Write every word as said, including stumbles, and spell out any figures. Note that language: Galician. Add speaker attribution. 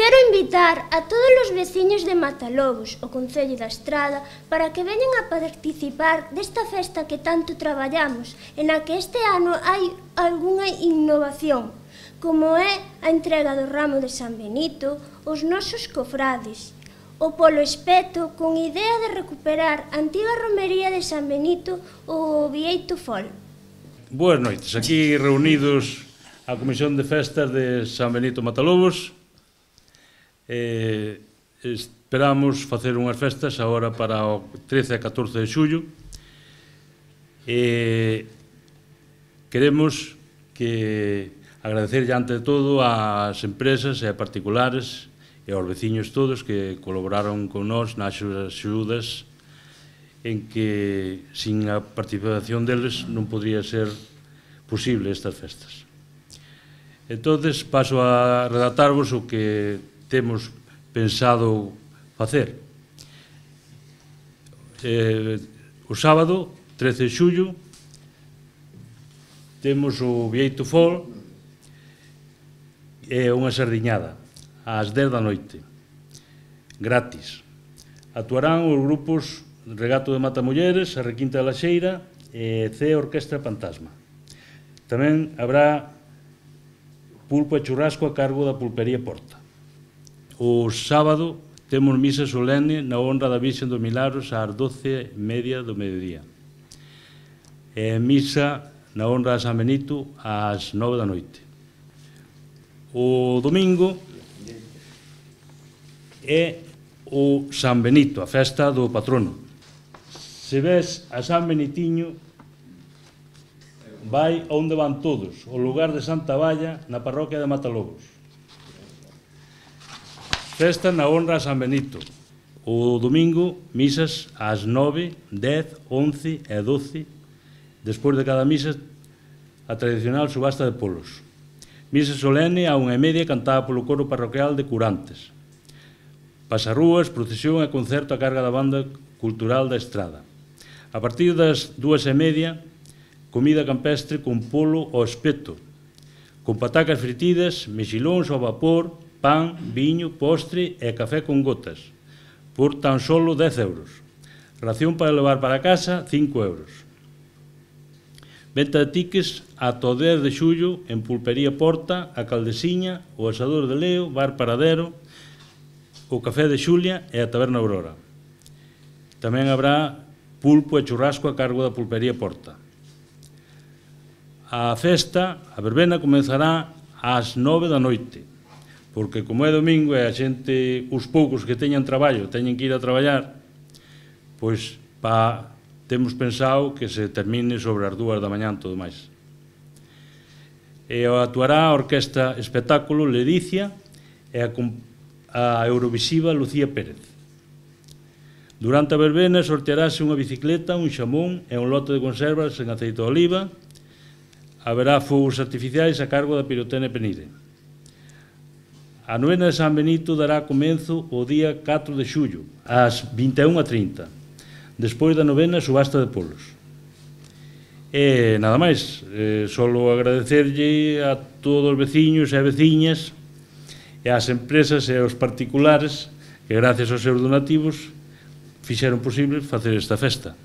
Speaker 1: Quero invitar a todos os veciños de Matalobos, o Concello da Estrada, para que veñan a participar desta festa que tanto traballamos, e na que este ano hai algunha innovación, como é a entrega do ramo de San Benito, os nosos cofrades, o Polo Espeto, con idea de recuperar a antiga romería de San Benito, o Bieito Fol.
Speaker 2: Boas noites, aquí reunidos a Comisión de Festas de San Benito Matalobos. Eh, esperamos facer unhas festas agora para o trece e catorce de xullo. Eh, queremos que agradecer ante de todo ás empresas e a particulares e aos veciños todos que colaboraron con nós nas axudas en que sin a participación deles non podría ser posible estas festas. Entonces paso a redactarvos o que temos pensado facer. Eh, o sábado, trece de xullo, temos o Bieito Fol e unha sardiñada ás dez da noite, gratis. Actuarán os grupos Regato de Matamulleres, a Requinta da Laxeira e C Orquestra Fantasma. Tamén habrá pulpo e churrasco a cargo da Pulpería Porta. O sábado temos misa solene na honra da Virxen dos Milagros ás doce e media do mediodía. E misa na honra de San Benito ás nove da noite. O domingo é o San Benito, a festa do patrono. Se ves a San Benitiño, vai onde van todos, o lugar de Santa Valla, na parroquia de Matalobos. Festa na honra a San Benito. O domingo, misas ás nove, dez, once e doce. Despois de cada misa, a tradicional subasta de polos. Misa solene a unha e media cantada polo coro parroquial de Curantes. Pasarrúas, procesión e concerto a carga da banda cultural da Estrada. A partir das dúas e media, comida campestre con polo ao espeto, con patacas fritidas, mexilóns ao vapor, pan, viño, postre e café con gotas, por tan solo dez euros. Ración para levar para casa, cinco euros. Venta de tiques ata o dez de xullo en Pulpería Porta, a Caldesiña, o Asador de Leo, Bar Paradero, o Café de Xulia e a Taberna Aurora. Tamén habrá pulpo e churrasco a cargo da Pulpería Porta. A festa, a verbena, comenzará ás nove da noite, porque como é domingo e a xente, os poucos que teñan traballo, teñen que ir a traballar, pois pa, temos pensado que se termine sobre as dúas da mañá todo máis. E actuará a Orquestra Espectáculo Ledicia e a, a Eurovisiva Lucía Pérez. Durante a verbena sortearase unha bicicleta, un xamón e un lote de conservas en aceite de oliva. Haberá fogos artificiais a cargo da Pirotene Penide. A novena de San Benito dará comenzo o día catro de xullo, ás vinte e unha e trinta, despois da novena subasta de polos. E nada máis, eh, solo agradecerlle a todos os veciños e veciñas e ás empresas e aos particulares que gracias aos seus donativos fixeron posible facer esta festa.